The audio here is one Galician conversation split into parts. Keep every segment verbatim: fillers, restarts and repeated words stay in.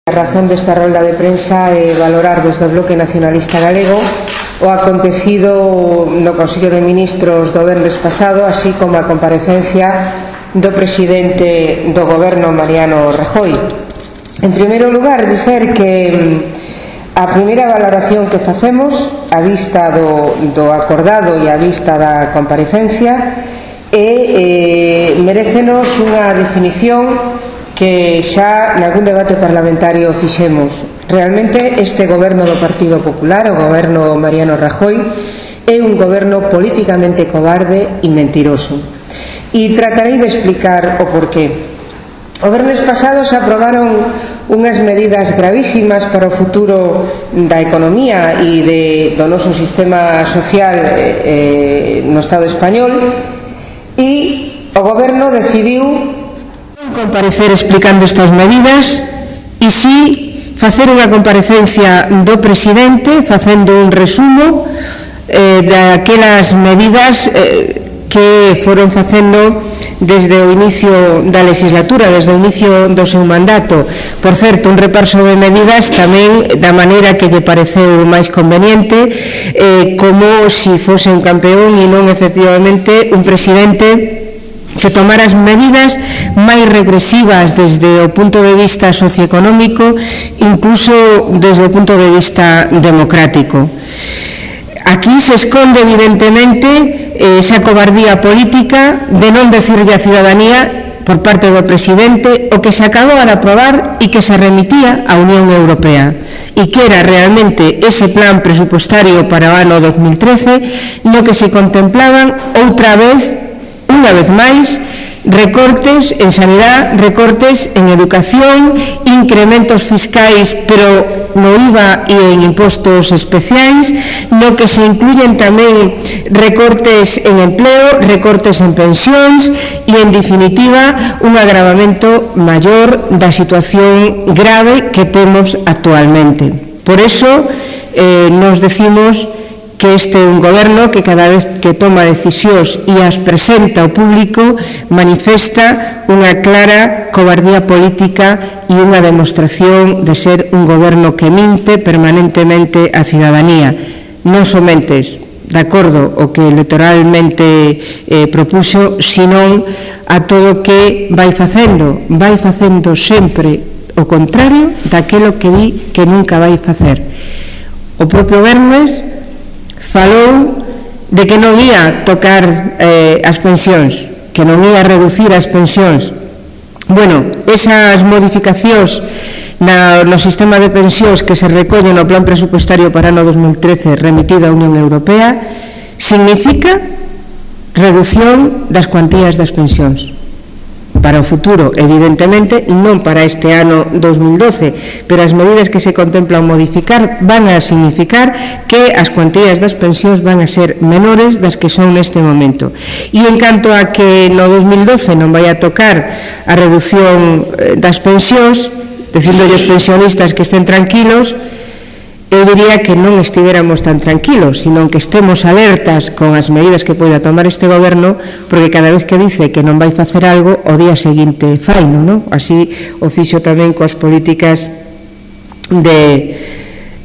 A razón desta rolda de prensa é valorar desde o Bloque Nacionalista Galego o acontecido no Consello de Ministros do venres pasado, así como a comparecencia do presidente do Goberno, Mariano Rajoy. En primeiro lugar, dicer que a primeira valoración que facemos a vista do, do acordado e a vista da comparecencia é, eh, merécenos unha definición que xa nalgún debate parlamentario fixemos. Realmente este goberno do Partido Popular, o goberno Mariano Rajoy, é un goberno políticamente cobarde e mentiroso. E tratarei de explicar o porqué. O venres pasado se aprobaron unhas medidas gravísimas para o futuro da economía e de, do noso sistema social eh, no Estado español, e o goberno decidiu comparecer explicando estas medidas e si facer unha comparecencia do presidente facendo un resumo eh, daquelas medidas eh, que foron facendo desde o inicio da legislatura, desde o inicio do seu mandato. Por certo, un repaso de medidas tamén da maneira que lle pareceu máis conveniente, eh, como si fose un campeón e non efectivamente un presidente que tomara as medidas máis regresivas desde o punto de vista socioeconómico, incluso desde o punto de vista democrático. Aquí se esconde evidentemente esa cobardía política de non decirlle á cidadanía por parte do presidente o que se acababa de aprobar e que se remitía á Unión Europea e que era realmente ese plan presupuestario para o ano dos mil trece no que se contemplaban outra vez unha vez máis, recortes en sanidade, recortes en educación, incrementos fiscais, pero no I V A e en impostos especiais, no que se incluyen tamén recortes en empleo, recortes en pensións e, en definitiva, un agravamento maior da situación grave que temos actualmente. Por eso, eh, nos decimos que este é un goberno que cada vez que toma decisións e as presenta ao público manifesta unha clara cobardía política e unha demostración de ser un goberno que minte permanentemente á cidadanía, non somente de acordo o que electoralmente eh, propuxo, senón a todo o que vai facendo, vai facendo sempre o contrario daquelo que di que nunca vai facer. O propio venres falou de que non ia tocar eh, as pensións, que non ia reducir as pensións. Bueno, esas modificacións na, no sistema de pensións que se recollen no plan presupuestario para o ano dos mil trece remitido á Unión Europea significa reducción das cuantías das pensións para o futuro, evidentemente, non para este ano dos mil doce, pero as medidas que se contemplan modificar van a significar que as cuantías das pensións van a ser menores das que son neste momento. E en canto a que no dos mil doce non vai a tocar a reducción das pensións, dicíndolle aos pensionistas que estén tranquilos, eu diría que non estivéramos tan tranquilos, sino que estemos alertas con as medidas que poida tomar este goberno, porque cada vez que dice que non vai facer algo, o día seguinte faino, non? Así o fixo tamén coas políticas de,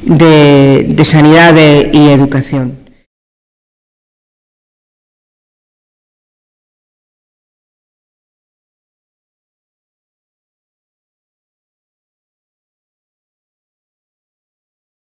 de, de sanidade e educación.